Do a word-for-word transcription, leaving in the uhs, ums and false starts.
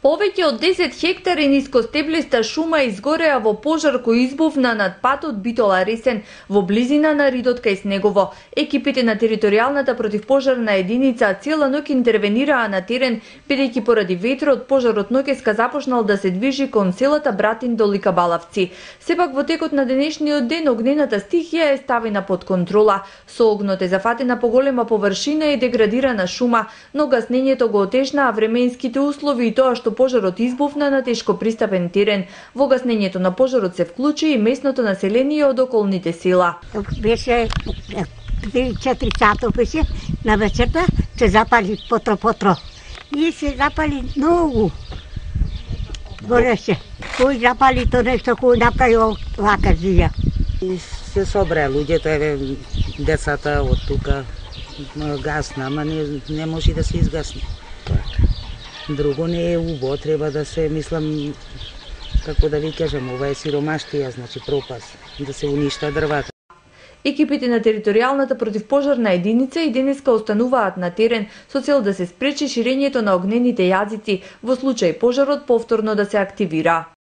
Повеќе од десет хектари нискостеблиста шума изгореа во пожар кој избувна над патот Битола-Ресен во близина на Ридот кај Снегово. Екипите на територијалната противпожарна единица цела ноќ интервенираа на терен, бидејќи поради ветрот пожарот ноќеска започнал да се движи кон селата Братин до Ликабалавци. Сепак во текот на денешниот ден огнената стихија е ставена под контрола. Со огнот е зафатена поголема површина и деградирана шума, но гаснењето го отежнаа временските услови и тоа што пожарот избувна на тешко пристапен терен. Во гаснењето на пожарот се вклучи и местното население од околните села. Беше три-четири сата беше на вечерта, се запали потро-потро. И се запали многу. Гореше. Кој запали то нешто, кој направи вака зија. И се собра луѓето, еве децата од тука гасна, ама не, не може да се изгасне. Друго не е убо, треба да се, мислам, како да ви кажам, ова е сиромаштија, значи пропас, да се уништа дрвата. Екипите на територијалната противпожарна единица и денеска остануваат на терен со цел да се спречи ширењето на огнените јазици во случај пожарот повторно да се активира.